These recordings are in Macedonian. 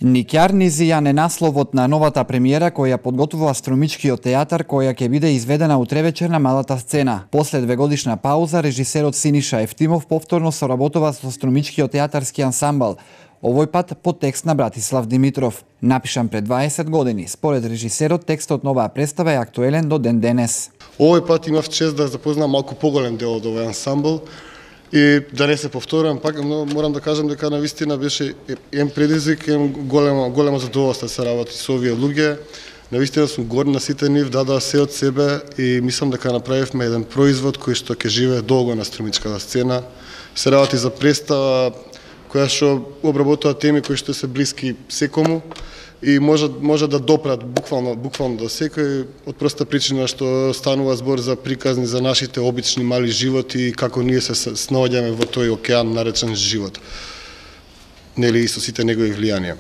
Никјар Низијан е насловот на новата премиера која подготвува Струмичкиот театар, која ќе биде изведена утре вечер на малата сцена. После 2-годишна пауза, режисерот Синиша Ефтимов повторно соработува со Струмичкиот театарски ансамбл, овој пат по текст на Братислав Димитров. Напишан пред 20 години, според режисерот текстот на оваа представа е актуелен до ден денес. Овој пат имав чест да запознам малку поголем дел од овој ансамбл. И да не се повторам, пак морам да кажам дека навистина беше предизвик, голема задоволство да се работи со овие луѓе. Навистина сум горд на сите нив, дадоа се од себе и мислам дека направивме еден производ кој што ќе живее долго на струмичката сцена. Се работи за представа која што обработува теми кои што се блиски секому и може да допрат буквално до секој, од проста причина што станува збор за приказни за нашите обични мали животи и како ние се снаоѓаме во тој океан наречен живот. Нели и со сите негови влијанија.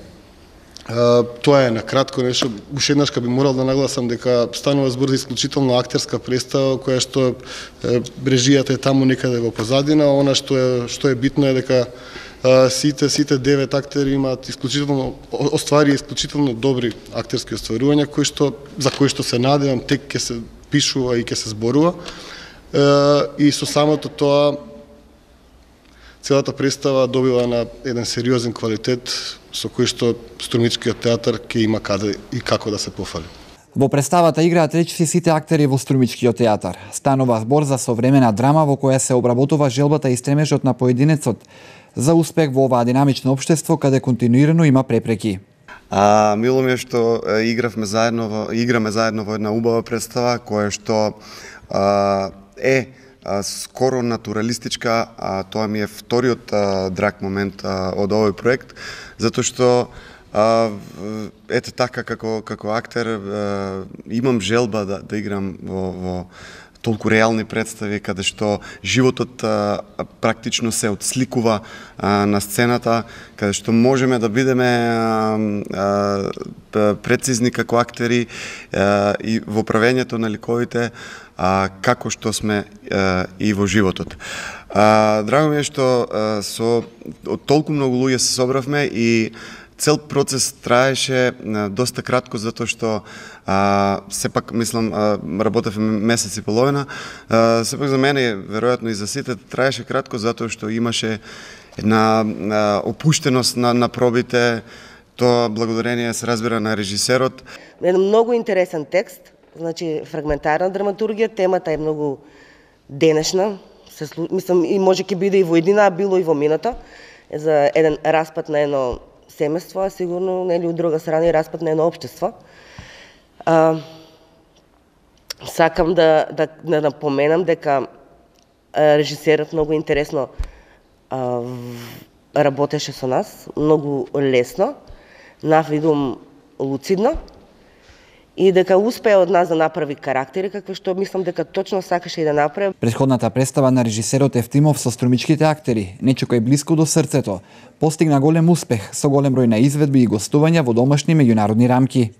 Тоа е на кратко нешто. Уште еднаш би морал да нагласам дека станува збор за исклучително актерска представа која што режијата е таму некаде во позадина, она што е битно е дека сите 9 актери имаат исклучително добри актерски остварувања за кои што се надевам тек ќе се пишува и ќе се зборува. И со самото тоа целата представа добива на еден сериозен квалитет со кој што Струмичкиот театар ќе има каде и како да се пофали. Во представата играат речиси сите актери во Струмичкиот театар. Станува збор за современа драма во која се обработува желбата и стремежот на поединецот за успех во оваа динамично општество каде континуирано има препреки. Мило ми е што играме заедно во една убава представа која што е скоро натуралистичка, тоа ми е вториот драг момент од овој проект, затоа што ете така како актер имам желба да играм во толку реални представи каде што животот практично се отсликува на сцената, каде што можеме да бидеме прецизни како актери и во правењето на ликовите како што сме и во животот. Драго ми е што со толку многу луѓе се собравме и цел процес траеше доста кратко затоа што сепак мислам работевме месец и половина. Сепак за мене, веројатно и за сите, траеше кратко затоа што имаше една опуштеност на пробите. Тоа благодарение се разбира на режисерот. Еден многу интересен текст, значи фрагментарна драматургија, темата е многу денешна. Мислам и може ќе биде и во едина, а било и во мината за еден распад на едно семејство, а сигурно нели од друга страна и распад на едно општество. Сакам да напоменам дека режисерот многу интересно работеше со нас, многу лесно, навидум луцидно, и дека успеа од нас да направи карактери, какви што мислам дека точно сакаше и да направи. Претходната представа на режисерот Ефтимов со струмичките актери, нечко е блиско до срцето, постигна голем успех со голем број на изведби и гостувања во домашни меѓународни рамки.